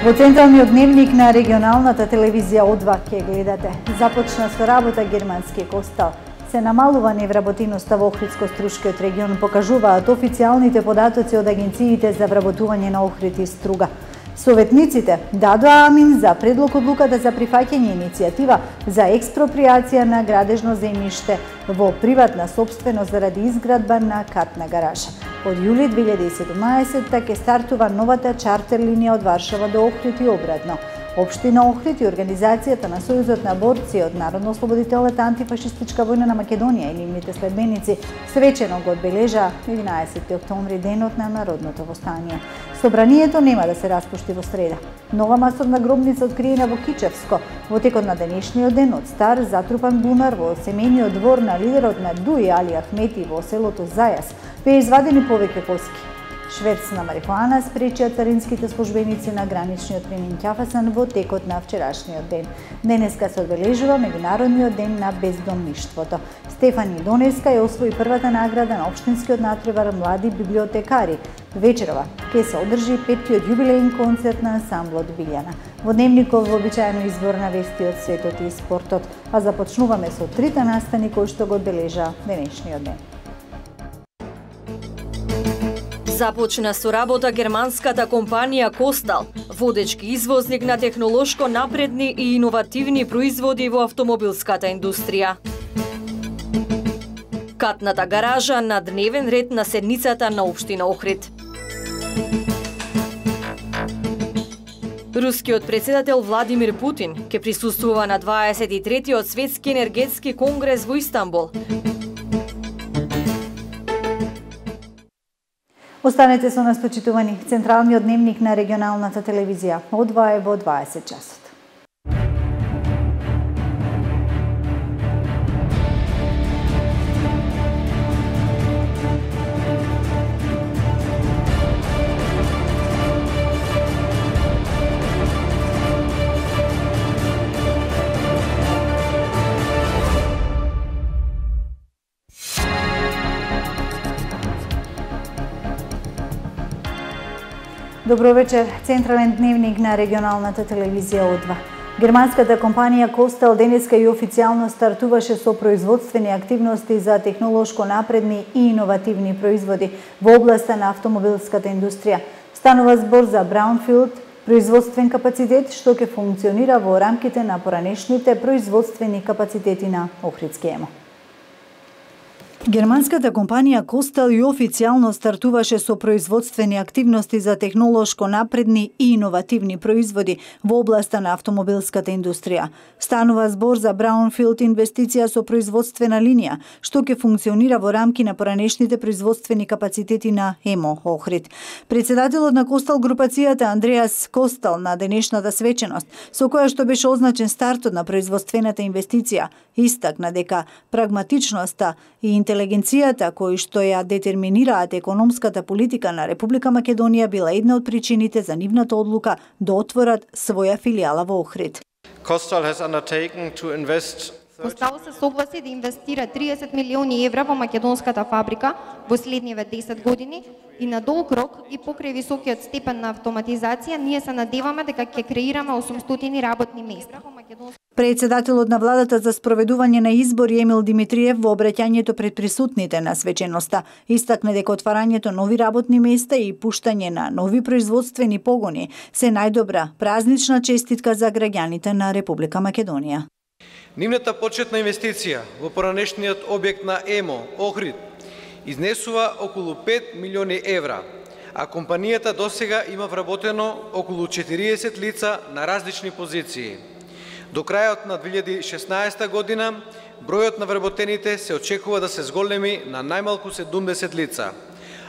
Во централниот дневник на регионалната телевизија О2 ќе гледате. Започна со работа германски Костал. Се намалува невработеноста во Охридско-Струшкиот регион, покажуваат официјалните податоци од агенциите за вработување на Охрид и Струга. Советниците дадоа амин за предлог одлуката за прифаќање иницијатива за експроприација на градежно земјиште во приватна собственост заради изградба на катна гаража. Од јули 2017 ќе стартува новата чартер линија од Варшава до Охрид и обратно. Општина Охрид и Организацијата на Сојузот на борци од Народно-ослободителната антифашистичка војна на Македонија и нивните следбеници свечено го одбележа 11 октомври, денот на народното востание. Собранието нема да се распушти во среда. Нова масовна гробница откриена во Кичевско во текот на денешниот ден од стар затрупан бунар во семејниот двор на лидерот на ДУИ Али Ахмети во селото Зајас беа извадени повеќе коски. Шверц на марихуана спречија царинските службеници на граничниот премин Ќафасан во текот на вчерашниот ден. Денеска се одбележува меѓународниот ден на бездомништвото. Стефани Донеска ја освои првата награда на општинскиот натпревар млади библиотекари. Вечерова ќе се одржи 5-тиот јубилеен концерт на ансамблот Билјана. Во дневников вообичаено избор на вести од светот и спортот, а започнуваме со трите настани кои што го одбележа денешниот ден. Започна со работа германската компанија Костал, водечки извозник на технолошко напредни и иновативни производи во автомобилската индустрија. Катната гаража на дневен ред на седницата на општина Охрид. Рускиот председател Владимир Путин ќе присуствува на 23-тиот светски енергетски конгрес во Истанбул. Останете со нас, почитувани. Централниот дневник на регионалната телевизија О2 е во 20 часот. Добро вечер. Централен дневник на регионалната телевизија О2. Германската компанија Костал денеска и официјално стартуваше со производствени активности за технолошко напредни и иновативни производи во областа на автомобилската индустрија. Станува збор за Браунфилд производствен капацитет што ќе функционира во рамките на поранешните производствени капацитети на Охридски ЕМО. Германската компанија Костал и официјално стартуваше со производствени активности за технолошко напредни и иновативни производи во областа на автомобилската индустрија. Станува збор за Браунфилд инвестиција со производствена линија, што ќе функционира во рамки на поранешните производствени капацитети на ЕМО Охрид. Председателот на Костал групацијата Андреас Костал на денешната свеченост, со која што беше означен стартот на производствената инвестиција, истакна дека прагматичноста и интелигенцијата кои што ја детерминираат економската политика на Република Македонија била една од причините за нивната одлука да отворат своја филијала во Охрид. Костал се согласи да инвестира 30 милиони евра во македонската фабрика во следниве 10 години и на долг рок и покрај високиот степен на автоматизација ние се надеваме дека ќе креираме 800 работни места. Председателот на владата за спроведување на избори Емил Димитриев во обраќањето пред присутните на свеченоста истакна дека отварањето нови работни места и пуштање на нови производствени погони се најдобра празнична честитка за граѓаните на Република Македонија. Нивната почетна инвестиција во поранешниот објект на ЕМО Охрид изнесува околу 5 милиони евра, а компанијата досега има вработено околу 40 лица на различни позиции. До крајот на 2016 година бројот на вработените се очекува да се зголеми на најмалку 70 лица,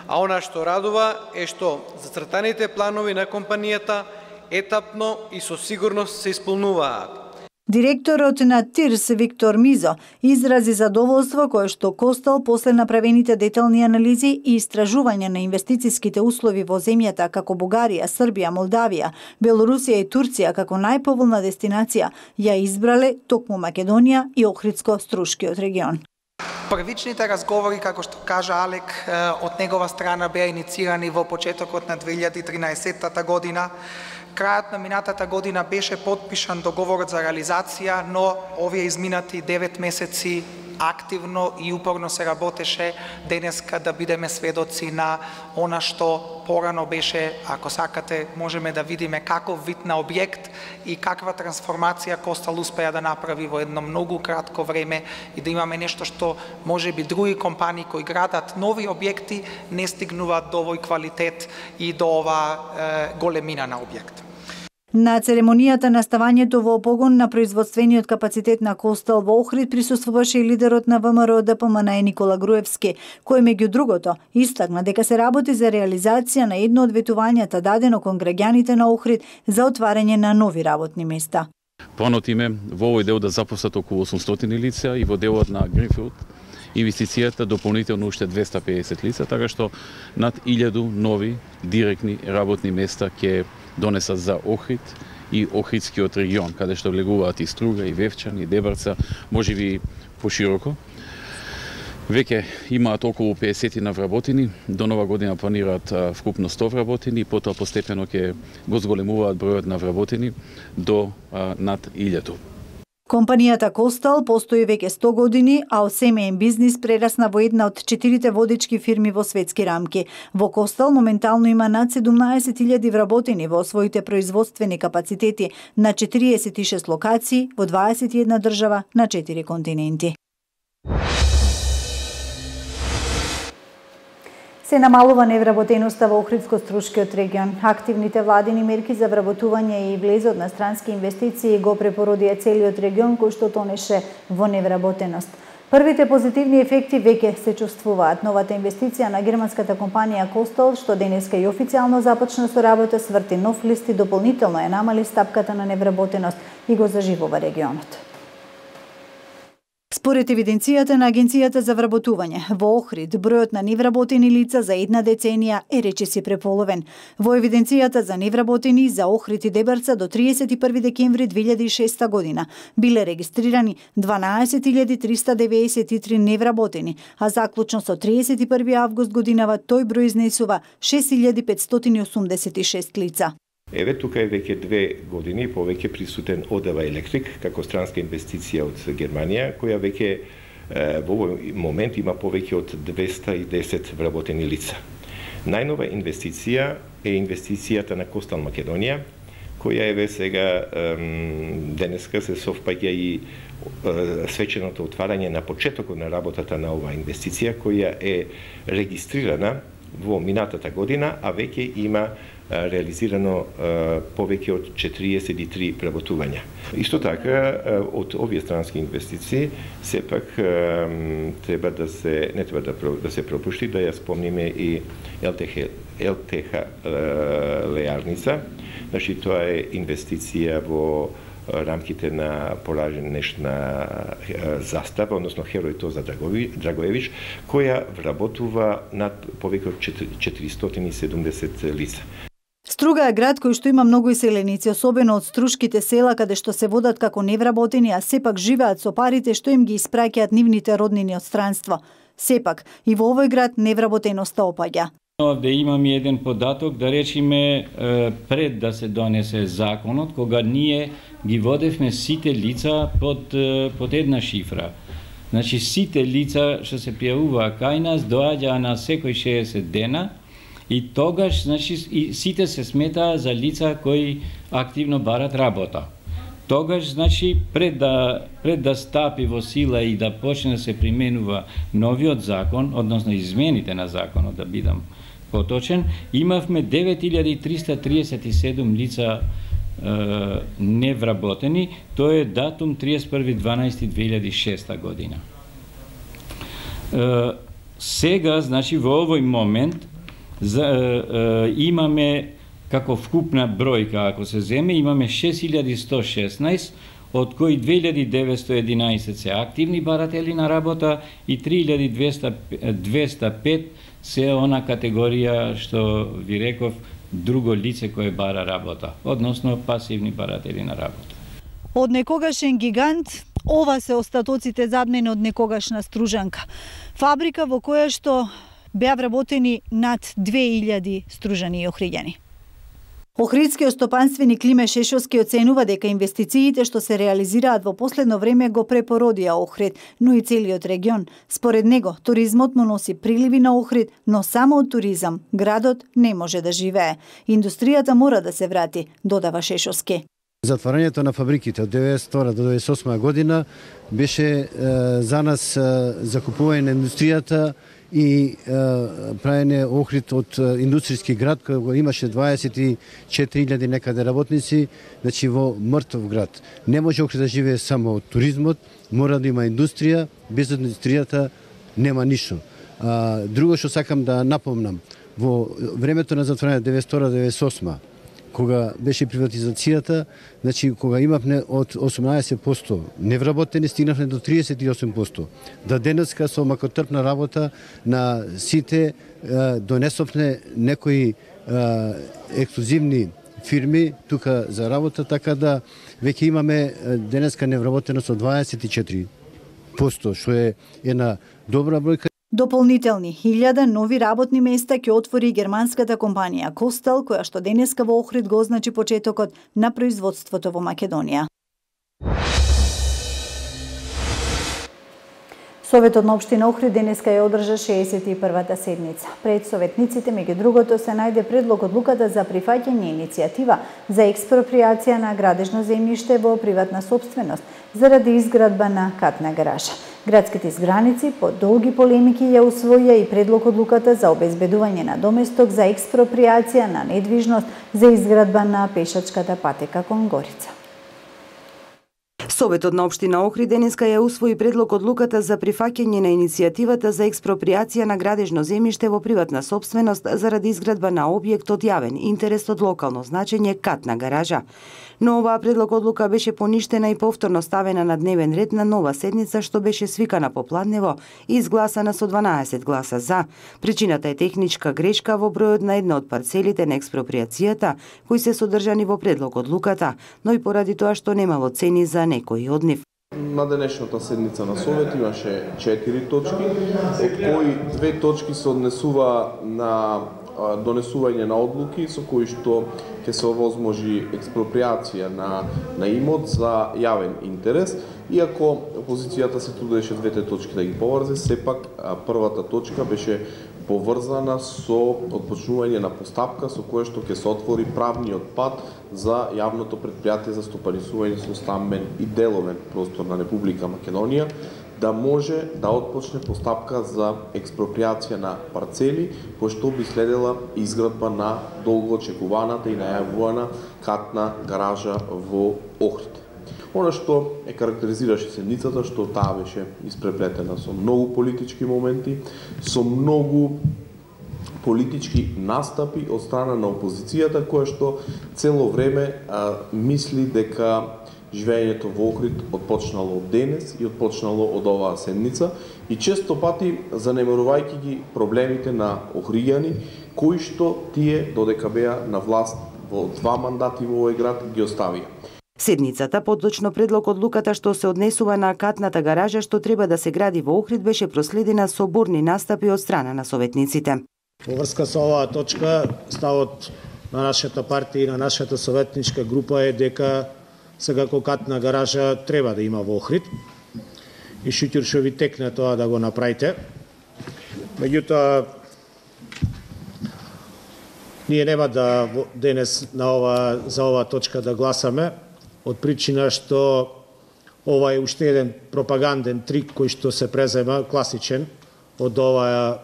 а она што радува е што зацртаните планови на компанијата етапно и со сигурност се исполнуваат. Директорот на ТИРС Виктор Мизо изрази задоволство кое што Костал после направените детални анализи и истражување на инвестициските услови во земјата како Бугарија, Србија, Молдавија, Белорусија и Турција како најповолна дестинација ја избрале токму Македонија и Охридско-Струшкиот регион. Првичните разговори, како што кажа Алек, од негова страна беа инициирани во почетокот на 2013 година. Крајот на минатата година беше подпишан договорот за реализација, но овие изминати 9 месеци активно и упорно се работеше денеска да бидеме сведоци на она што порано беше, ако сакате, можеме да видиме каков вид на објект и каква трансформација Костал успеа да направи во едно многу кратко време и да имаме нешто што можеби други компании кои градат нови објекти не стигнуваат до овој квалитет и до оваа големина на објект. На церемонијата на ставањето во погон на производствениот капацитет на Костал во Охрид присуствуваше и лидерот на ВМРО ДПМН Никола Груевски, кој меѓу другото истакна дека се работи за реализација на едно од ветувањата дадено кон граѓаните на Охрид за отварање на нови работни места. Планот им е во овој дел да запослат околу 800 лица и во делот на Гринфилд инвестицијата дополнително уште 250 лица, така што над 1000 нови директни работни места ќе донесат за Охрид и Охридскиот регион, каде што влегуваат и Струга, и Вевчан, и Дебарца, можеби пошироко. Веќе имаат околу 50 на вработени, до нова година планираат вкупно 100 вработени, потоа постепено ќе го зголемуваат бројот на вработени до над 1000. Компанијата Костал постои веќе 100 години, а од семеен бизнис прерасна во една од 4 водечки фирми во светски рамки. Во Костал моментално има над 17.000 вработени во своите производствени капацитети на 46 локации во 21 држава на 4 континенти. Се намалува невработеноста во Охридско-Струшкиот регион. Активните владини мерки за вработување и влезот на странски инвестиции го препородија целиот регион кој што тонеше во невработеност. Првите позитивни ефекти веќе се чувствуваат. Новата инвестиција на германската компанија Костал, што денеска и официјално започна со работа, сврти нов лист и дополнително ја намали стапката на невработеност и го заживува регионот. Според евиденцијата на Агенцијата за вработување, во Охрид бројот на невработени лица за една деценија е речиси преполовен. Во евиденцијата за невработени за Охрид и Дебарца до 31 декември 2006 година биле регистрирани 12.393 невработени, а заклучно со 31 август годинава тој број изнесува 6.586 лица. Еве тука е веќе 2 години повеќе присутен ОДВ Електрик како странска инвестиција од Германија, која веќе во овој момент има повеќе од 210 вработени лица. Најнова инвестиција е инвестицијата на Костал Македонија, која еве сега денеска се совпаѓа и свеченото отварање на почетокот на работата на оваа инвестиција, која е регистрирана во минатата година, а веќе има реализирано повеќе од 43 преработувања. Исто така, од овие странски инвестиции, сепак треба да се не треба да се пропушти, да ја спомниме и ЛТХ Леарница. Значи тоа е инвестиција во рамките на поражнешна застава, односно Херој Тоза Драгоевич, која вработува над повеќе од 470 лица. Струга е град кој што има многу иселеници, особено од струшките села каде што се водат како невработени, а сепак живеат со парите што им ги испраќаат нивните роднини од странство. Сепак и во овој град невработеноста опаѓа. Овде имам еден податок, да речиме пред да се донесе законот, кога ние ги водевме сите лица под една шифра. Значи сите лица што се пријавуваа кај нас доаѓаа на секој 60 дена и тогаш значи и сите се сметаа за лица кои активно барат работа. Тогаш значи пред да стапи во сила и да почне да се применува новиот закон, односно измените на законот, да бидам поточен, имавме 9337 лица невработени, тоа е датум 31.12.2006 година. Сега, значи, во овој момент имаме како вкупна бројка, ако се земе, имаме 6116, од кои 2911 се активни баратели на работа и 3205 се она категорија што ви реков друго лице кое бара работа, односно пасивни баратели на работа. Од некогашен гигант, ова се остатоците задмени од некогашна стружанка. Фабрика во која што беа вработени над 2000 стружани и охриѓани. Охридскиот стопанствени Климе Шешовски оценува дека инвестициите што се реализираат во последно време го препородија Охрид, но и целиот регион. Според него, туризмот му носи приливи на Охрид, но само од туризам градот не може да живее. Индустријата мора да се врати, додава Шешовски. Затварањето на фабриките од 1992 до 1998 година беше за нас закупување на индустријата и правење Охрид од индустријски град кој имаше 24.000 некаде работници, значи во мртов град. Не може Охрид да живее само од туризмот, мора да има индустрија, без индустријата нема ништо. Друго што сакам да напомнам, во времето на затворање 1992-1998 кога беше приватизацијата, значи кога имавме од 18% невработени, стигнавме до 38%. Да денеска со макотрпна работа на сите донесовме некои ексклузивни фирми тука за работа, така да веќе имаме денеска невработеност од 24%, што е една добра бројка. Дополнителни 1000 нови работни места ќе отвори германската компанија Костал, која што денеска во Охрид го означи почетокот на производството во Македонија. Советот на општина Охрид денеска ја одржа 61-та седница. Пред советниците, меѓу другото, се најде предлог одлуката за прифаќање иницијатива за експроприација на градежно земјиште во приватна сопственост заради изградба на катна гаража. Градските избраници по долги полемики ја усвоја и предлог одлуката за обезбедување на доместок за експроприација на недвижност за изградба на пешачката патека кон Горица. Советот на општина Охрид денеска ја усвои предлог одлуката за прифаќање на иницијативата за експроприација на градежно земјиште во приватна сопственост заради изградба на објект од јавен интерес од локално значење катна гаража. Но оваа предлог одлука беше поништена и повторно ставена на дневен ред на нова седница што беше свикана попладнево и изгласана со 12 гласа за. Причината е техничка грешка во бројот на една од парцелите на експроприацијата кои се содржани во предлог одлуката, но и поради тоа што немало цени за некои од нив. На денешната седница на Совет имаше 4 точки, од кои 2 точки се однесува на донесување на одлуки со кои што ќе се овозможи експроприација на имот за јавен интерес, иако опозицијата се трудеше двете точки да ги поврзе, сепак првата точка беше поврзана со отпочнување на постапка со кое што ќе се отвори правниот пат за јавното претпријатие за стопанисување со стамбен и деловен простор на Република Македонија, да може да отпочне постапка за експроприација на парцели, кој што би следела изградба на долго очекуваната и најавувана катна гаража во Охрид. Она што е карактеризираше седницата, што таа беше испреплетена со многу политички моменти, со многу политички настапи од страна на опозицијата, која што цело време мисли дека живењето во Охрид отпочнало од денес и отпочнало од оваа седница и често пати занемарувајќи ги проблемите на охријани, кои што тие додека беа на власт во 2 мандати во овој град ги оставија. Седницата, поточно предлог одлуката што се однесува на катната гаража што треба да се гради во Охрид, беше проследена со бурни настапи од страна на советниците. Во врска со оваа точка, ставот на нашата партија и на нашата советничка група е дека секако катна гаража треба да има во Охрид и шутир што ви текне тоа да го направите. Меѓутоа, ние нема да денес за оваа точка да гласаме, од причина што ова е уште еден пропаганден трик кој што се презема, класичен, од оваа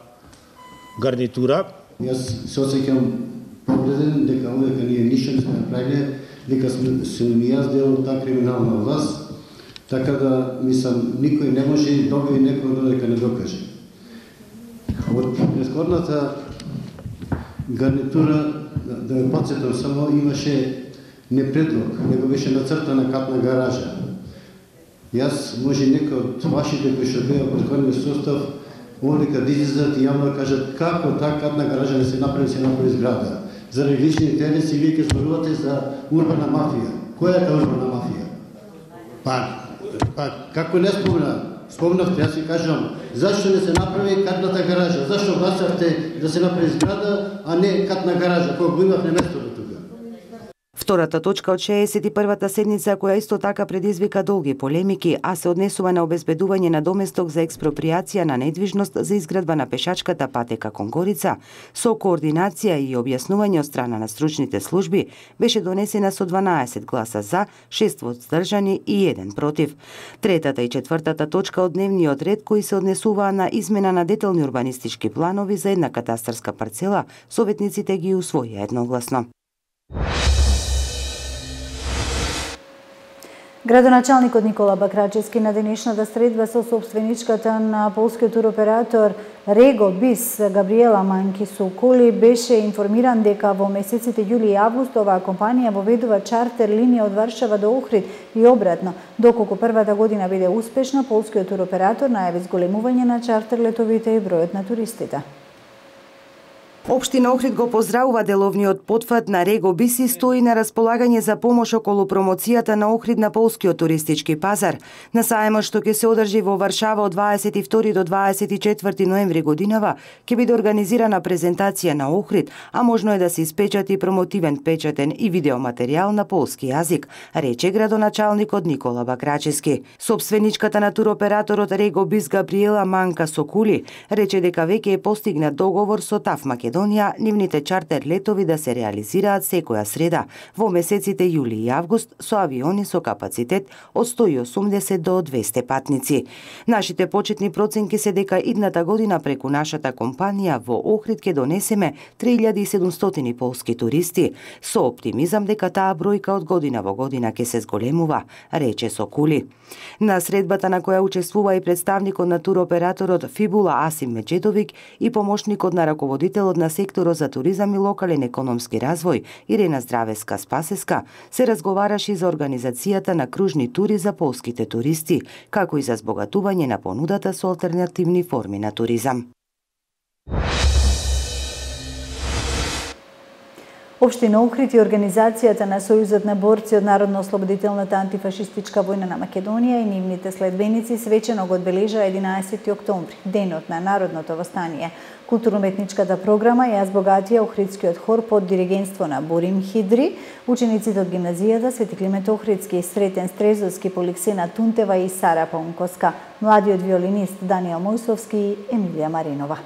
гарнитура. Јас се осеќам повреден дека овека ние ништо не сме направиле, дека сум и јас дел од таа криминална власт, така да, мислам, никој не може и добие некој додека не докаже. Од претходната гарнитура, да ме подсетам само, имаше не предлог, него беше нацртана катна гаража. Јас, може некој од вашите кои што беа претходниот состав, овдека да излезат и јавно кажат како таа катна гаража не се направи зграда. Заради лични интереси вие ќе зборувате за урбана мафија. Која е таа урбана мафија? Па како не спомнавте, јас ви кажам, зашто не се направи катната гаража? Зашто гласавте да се направи зграда, а не катна гаража, која го имавме местото тука? Втората точка од 61-та седница, која исто така предизвика долги полемики, а се однесува на обезбедување на доместок за експроприација на недвижност за изградба на пешачката патека кон Горица, со координација и објаснување од страна на стручните служби, беше донесена со 12 гласа за, 6 воздържани и 1 против. Третата и четвртата точка од дневниот ред, кои се однесуваа на измена на детални урбанистички планови за една катастарска парцела, советниците ги усвоија едногласно. Градоначалникот Никола Бакрачевски на денешната средба со собственичката на полскиот туроператор Рего Бис Габриела Манки-Соколи беше информиран дека во месеците јули и август оваа компанија воведува чартер линија од Варшава до Охрид и обратно. Доколку првата година биде успешна, полскиот туроператор најави зголемување на чартер летовите и бројот на туристите. Општина Охрид го поздравува деловниот потфат на Рего Бис и стои на располагање за помош околу промоцијата на Охрид на полскиот туристички пазар. На сајмот што ќе се одржи во Варшава од 22 до 24 ноември годинава, ќе биде организирана презентација на Охрид, а можно е да се испечати промотивен печатен и видеоматеријал на полски јазик, рече градоначалникот Никола Бакрачевски. Собственичката на туроператорот Рего Бис Габриела Манка-Соколи рече дека веќе е постигнат договор со ТАФ Македонија нивните чартер летови да се реализираат секоја среда во месеците јули и август со авиони со капацитет од 180 до 200 патници. Нашите почетни проценки се дека идната година преку нашата компанија во Охрид ќе донесеме 3700 полски туристи, со оптимизам дека таа бројка од година во година ќе се зголемува, рече Соколи. На средбата на која учествува и представникот на туроператорот Фибула Асим Меджедовик и помошникот на раководителот на секторот за туризам и локален економски развој Ирена Здравеска-Спасеска, се разговараше за организацијата на кружни тури за полските туристи, како и за збогатување на понудата со алтернативни форми на туризам. Општина Охрид и Организацијата на Сојузот на борци од Народно-ослободителната антифашистичка војна на Македонија и нивните следбеници свечено го одбележаа 11 октомври, денот на Народното востание. Културно-уметничката програма ја збогатија Охридскиот хор под диригентство на Борим Хидри, учениците од гимназијата Свети Климент Охридски, Сретен Стрезовски, Поликсена Тунтева и Сара Паунковска, младиот виолинист Даниел Мојсовски и Емилија Маринова.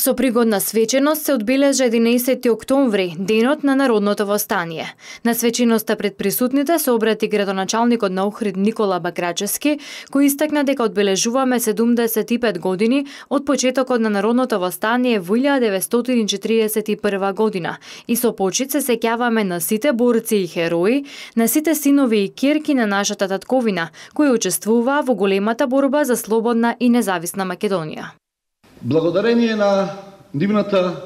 Со пригодна свеченост се одбележа 11 октомври, денот на Народното востание. На свеченоста пред присутните се обрати градоначалникот на Охрид Никола Бакрачевски, кој истакна дека одбележуваме 75 години од почетокот на Народното востание во 1941 година и со почит се сеќаваме на сите борци и херои, на сите синови и ќерки на нашата татковина, кои учествуваа во големата борба за слободна и независна Македонија. Благодарение на нивната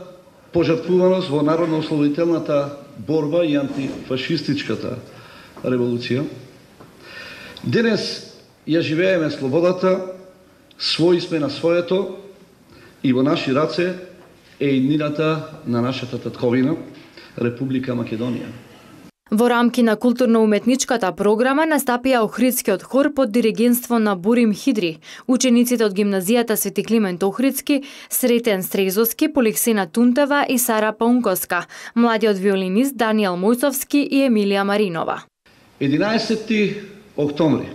пожртвуваност во народно-ослободителната борба и антифашистичката револуција, денес ја живееме слободата, своји сме на своето и во наши раце е иднината на нашата татковина, Република Македонија. Во рамки на културно-уметничката програма настапија Охридскиот хор под диригентство на Борим Хидри, учениците од гимназијата Свети Климент Охридски, Сретен Стрезовски, Поликсена Тунтева и Сара Паунковска, младиот виолинист Даниел Мојсовски и Емилија Маринова. 11 октомври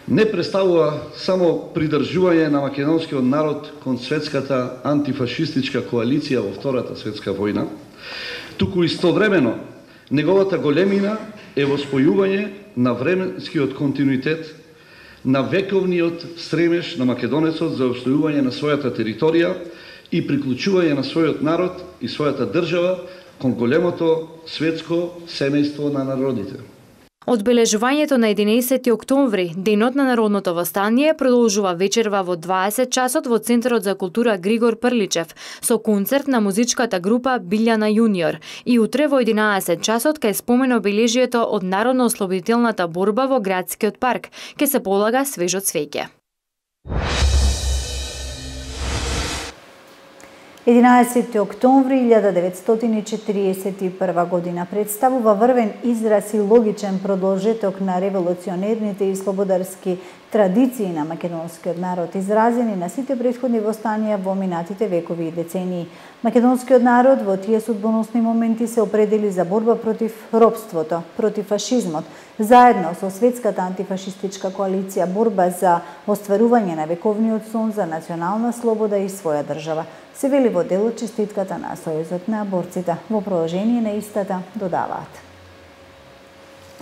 не представува само придржување на македонскиот народ кон светската антифашистичка коалиција во Втората светска војна, туку истовремено неговата големина е во спојување на временскиот континуитет, на вековниот стремеж на македонецот за обстојување на својата територија и приклучување на својот народ и својата држава кон големото светско семејство на народите. Одбележувањето на 11 октомври, денот на Народното востание, продолжува вечерва во 20 часот во Центарот за култура Григор Прличев со концерт на музичката група Билјана Јуниор и утре во 11 часот кај спомен обележието од Народно-ослободителната борба во градскиот парк, ке се полага свежо цвеќе. 11 октомври 1941 година представува врвен израз и логичен продолжеток на револуционерните и слободарски традиции на македонскиот народ, изразени на сите претходни востанија во минатите векови и децении. Македонскиот народ во тие судбоносни моменти се определи за борба против робството, против фашизмот, заедно со Светската антифашистичка коалиција, борба за остварување на вековниот сон за национална слобода и своја држава. Се вели во делот честитката на Сојузот на борците. Во продолжение на истата додаваат: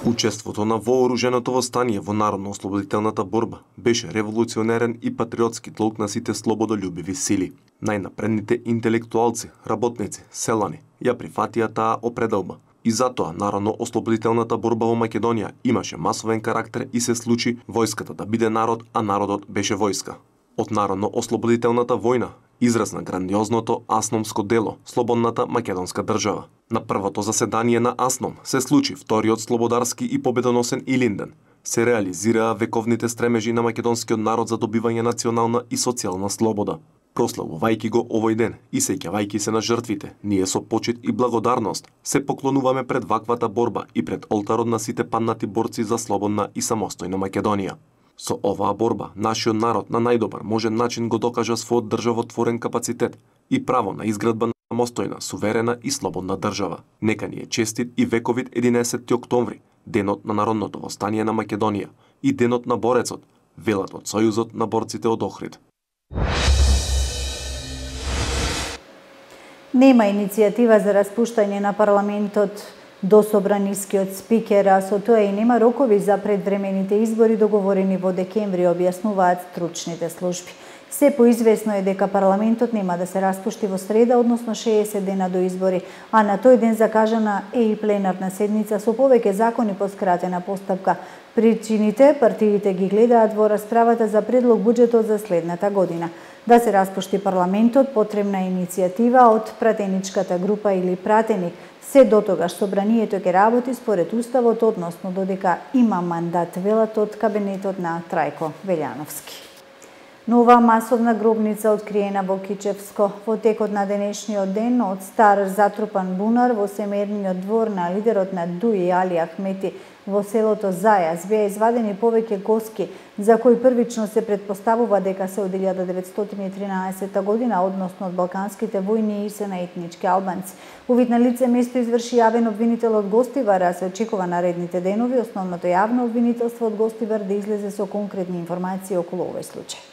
Учеството на вооруженото востание во народно-ослободителната борба беше револуционерен и патриотски долг на сите слободолюбиви сили. Најнапредните интелектуалци, работници, селани ја прифатија таа определба. И затоа народно-ослободителната борба во Македонија имаше масовен карактер и се случи војската да биде народ, а народот беше војска. Од народно-ослободителната војна израз на грандиозното Асномско дело, слободната македонска држава. На првото заседание на Асном се случи вториот слободарски и победоносен Илинден. Се реализираа вековните стремежи на македонскиот народ за добивање национална и социјална слобода. Прославувајќи го овој ден и сеќавајќи се на жртвите, ние со почит и благодарност се поклонуваме пред ваквата борба и пред олтарот на сите паднати борци за слободна и самостојна Македонија. Со оваа борба, нашиот народ на најдобар можен начин го докажа својот државотворен капацитет и право на изградба на самостојна, суверена и слободна држава. Нека ни е честит и вековит 11 октомври, денот на народното востание на Македонија и денот на борецот, велат од Сојузот на борците од Охрид. Нема иницијатива за распуштање на парламентот до собранискиот спикер, а со тоа и нема рокови за предвремените избори договорени во декември, објаснуваат стручните служби. Се поизвестно е дека парламентот нема да се распушти во среда, односно 60 дена до избори, а на тој ден закажана е и пленарна седница со повеќе закони по скратена постапка. Причините партиите ги гледаат во расправата за предлог буџетот за следната година. Да се распушти парламентот, потребна е иницијатива од пратеничката група или пратеник. Се дотогаш собранието ќе работи според уставот, односно додека има мандат, велат од кабинетот на Трајко Велјановски. Нова масовна гробница откриена во Кичевско. Во текот на денешниот ден од стар затрупан бунар во семејниот двор на лидерот на ДУИ Али Ахмети во селото Зајас беа извадени повеќе коски, за кои првично се предпоставува дека се од 1913 година, односно од балканските војни и се на етнички албанци. Увид на лице место изврши јавен обвинител од Гостивар, а се очекува наредните денови основното јавно обвинителство од Гостивар да излезе со конкретни информации околу овој случај.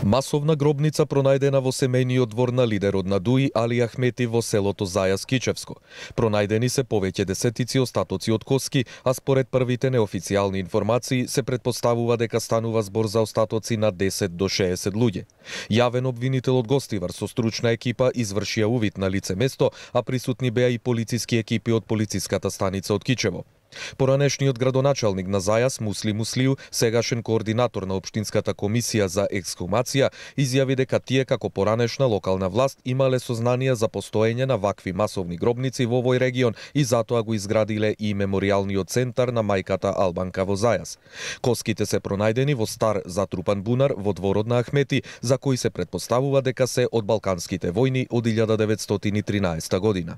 Масовна гробница пронајдена во семејниот двор на лидерот на ДУИ Али Ахмети во селото Зајас Кичевско. Пронајдени се повеќе десетици остатоци од коски, а според првите неофицијални информации се предпоставува дека станува збор за остатоци на 10 до 60 луѓе. Јавен обвинител од Гостивар со стручна екипа извршија увид на лице место, а присутни беа и полициски екипи од полициската станица од Кичево. Поранешниот градоначалник на Зајас Мусли Муслиу, сегашен координатор на Општинската комисија за ексхумација, изјави дека тие како поранешна локална власт имале сознание за постоење на вакви масовни гробници во овој регион и затоа го изградиле и меморијалниот центар на мајката Албанка во Зајас. Коските се пронајдени во стар затрупан бунар во дворот на Ахмети, за кои се предпоставува дека се од балканските војни од 1913 година.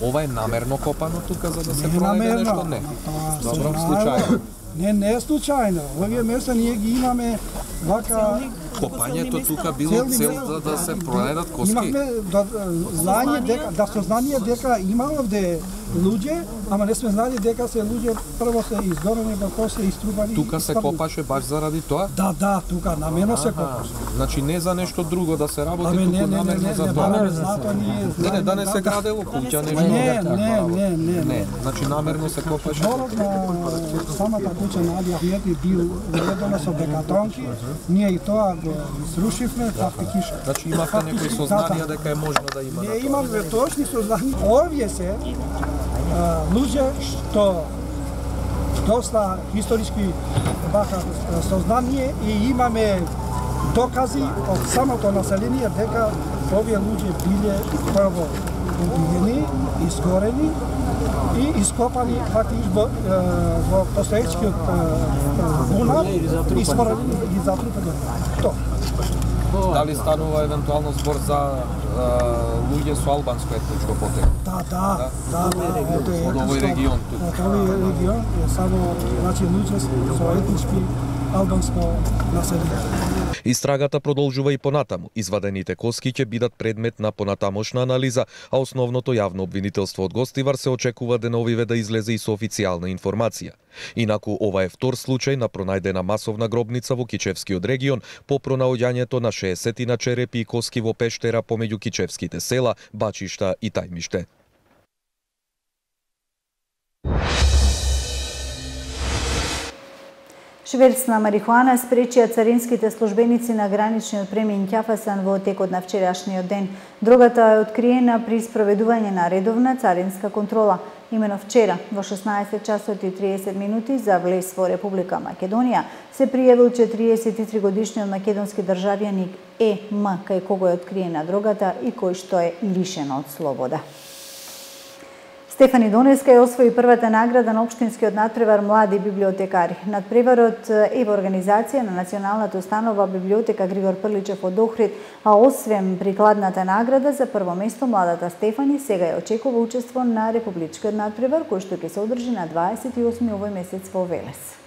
Ова е намерно копано тука за да се пронајде нешто? Не. Добро, случајно. Не е случајно. Овие места ние ги имаме вака... Копањето тука било цел да се пронајдат коски? Имавме знање дека, да сознание дека има овде луѓе, ама не сме знали дека се луѓе прво се изгорени, па после иструпани. Тука се копаше баш заради тоа? Да, тука намерно се копаше. Значи не за нешто друго да се работи, туку намерно за тоа. Не, да не се градело куќа, нешто. Не. Значи намерно се копаше. Дворот на самата куќа на Али Ахмети бил уредено со бекатонки, ние и тоа го срушивме, фактично. Значи имате некои сознанија дека е можно да има? Не имаме точни сознанија. Овие се луѓе што доста историски баха сознание и имаме докази од самото население дека овие луѓе биле прво убиени, изгорени и ископани фактично во постоечкиот бунар и споредени и затрупани. Тоа. Дали станува евентуално збор за луѓе со албанско етничко потекло? Да. Од овој регион тук. Овој регион е само луѓе со етнички албанско население. Истрагата продолжува и понатаму. Извадените коски ќе бидат предмет на понатамошна анализа, а основното јавно обвинителство од Гостивар се очекува деновиве да излезе и со официјална информација. Инаку ова е втор случај на пронајдена масовна гробница во Кичевскиот регион по пронаоѓањето на 60 черепи и коски во пештера помеѓу кичевските села Бачишта и Тајмиште. Шверц на марихуана спречија царинските службеници на граничниот премин Ќафасан во текот на вчерашниот ден. Дрогата е откриена при спроведување на редовна царинска контрола. Имено вчера, во 16 часот и 30 минути за влез во Република Македонија, се пријавил 43-годишниот македонски државјаник Е.М. кај кого е откриена дрогата и кој што е лишен од слобода. Стефани Донеска ја освои првата награда на општинскиот надпревар Млади библиотекари. Надпреварот е во организација на Националната установа библиотека Григор Прличев од Охрид, а освен прикладната награда за прво место, младата Стефани сега ја очекува учество на републичкиот надпревар кој што ќе се одржи на 28 овој месец во Велес.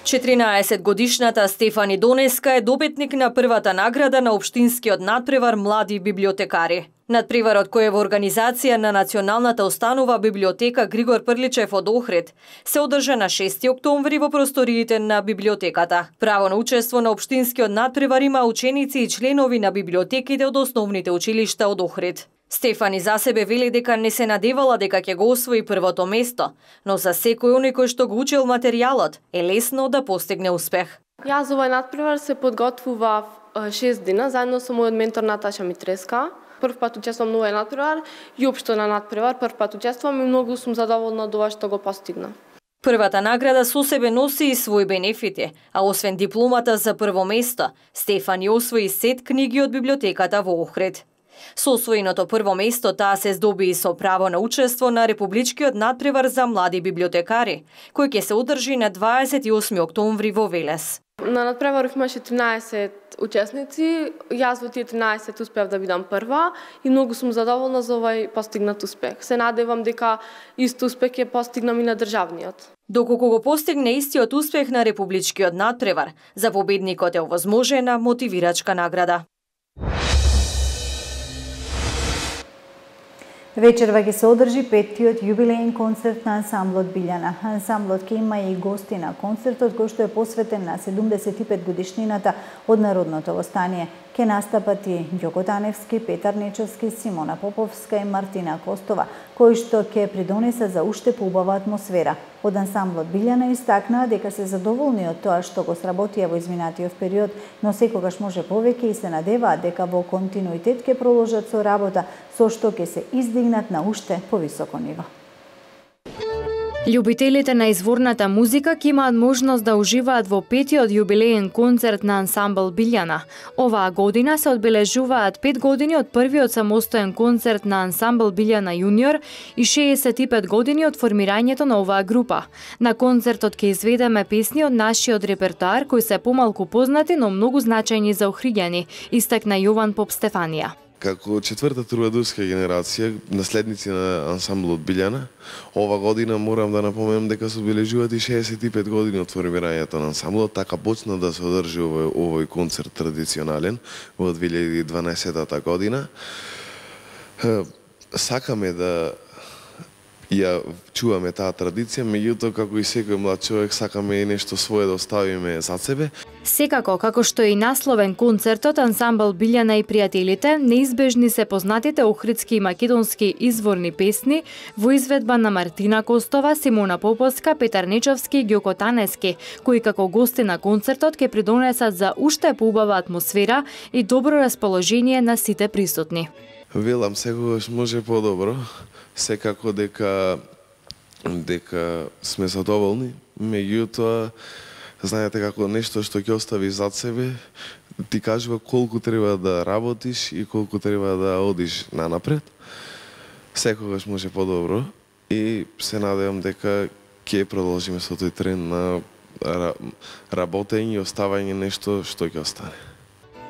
14-годишната Стефани Донеска е добитник на првата награда на општинскиот надпревар Млади библиотекари. Надпреварот кој е во организација на Националната установа библиотека Григор Прличев од Охрид се одржа на 6 октомври во просториите на библиотеката. Право на учество на општинскиот надпревар има ученици и членови на библиотеките од основните училишта од Охрид. Стефани за себе вели дека не се надевала дека ќе го освои првото место, но за секој оној кој што го учил материјалот е лесно да постигне успех. Јас овој надпревар се подготвував 6 дена заедно со мојот ментор Наташа Митреска. Прв пат учествувам на овој надпревар и општо на надпревар прв пат учествувам и многу сум задоволна од ова што го постигна. Првата награда со себе носи и своји бенефити, а освен дипломата за прво место, Стефани освои сет книги од библиотеката во Охрид. Со освоеното прво место таа се здоби и со право на учество на републичкиот надпревар за млади библиотекари, кој ќе се одржи на 28 октомври во Велес. На надпреварот имаше 13 учесници, јас во тие 13 успеав да бидам прва и многу сум задоволна за овој постигнат успех. Се надевам дека исто успех ќе постигнам и на државниот. Доколку го постигне истиот успех на републичкиот надпревар, за победникот е овозможена мотивирачка награда. Вечерва ќе се одржи 5-тиот јубилеен концерт на ансамблот Билјана. Ансамблот ќе има и гости на концертот кој што е посветен на 75 годишнината од Народното востание. Ке настапат и Ѓоко Таневски, Петар Нечовски, Симона Поповска и Мартина Костова, кои што ќе придонесат за уште поубава атмосфера. Од ансамблот Билјана истакнаа дека се задоволни од тоа што го сработија во изминатиот период, но секогаш може повеќе и се надеваат дека во континуитет ќе продолжат со работа, со што ќе се издигнат на уште повисоко ниво. Љубителите на изворната музика ќе имаат можност да уживаат во 5-тиот јубилеен концерт на ансамбл Билјана. Оваа година се одбележуваат 5 години од првиот самостоен концерт на ансамбл Билјана јуниор и 65 години од формирањето на оваа група. На концертот ќе изведеме песни од нашиот репертоар кои се помалку познати, но многу значајни за охриѓани, истакна Јован Поп Стефанија. Како четврта трубадурска генерација, наследници на ансамблот Билјана, ова година морам да напоменам дека се одбележуваат и 65 години од формирањето на ансамблот, така почна да се одржи овој концерт традиционален во 2012 година. Сакаме да ја чуваме таа традиција, меѓутоа како и секој млад човек сакаме и нешто свое да оставиме зад себе. Секако, како што и насловен концертот, ансамбл Билјана и пријателите, неизбежни се познатите охридски и македонски изворни песни во изведба на Мартина Костова, Симона Поповска, Петар Нечовски и Ѓоко Таневски, кои како гости на концертот ќе придонесат за уште поубава атмосфера и добро расположение на сите присутни. Велам, секогаш може подобро, секако дека сме задоволни, меѓутоа знаете како нешто што ќе оставиш зад себе, ти кажува колку треба да работиш и колку треба да одиш нанапред. Секогаш може подобро и се надевам дека ќе продолжиме со тој тренд на работење и оставање нешто што ќе остане.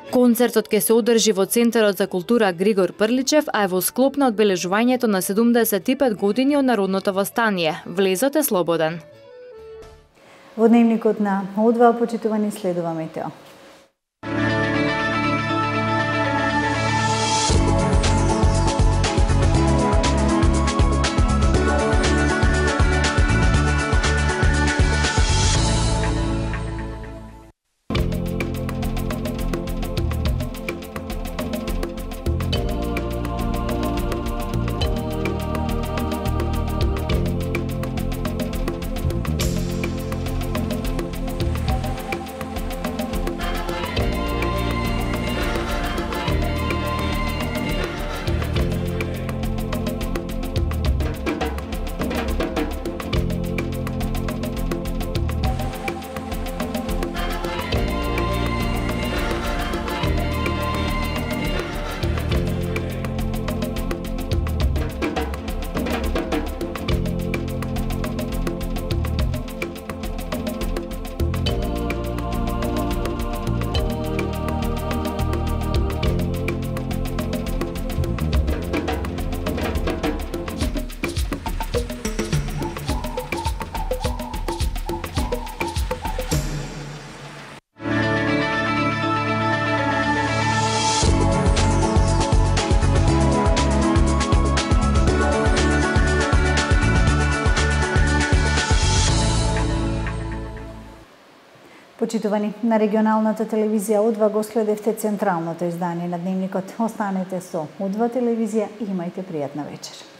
Концертот ќе се одржи во Центарот за култура Григор Прличев, а е во склоп на одбележувањето на 75 години од Народното востание. Влезот е слободен. Во дневникот на О2 почитувани следува метео. Почитувани, на регионалната телевизија О2 го следевте централното издание на дневникот. Останете со О2 телевизија и имајте пријатна вечер.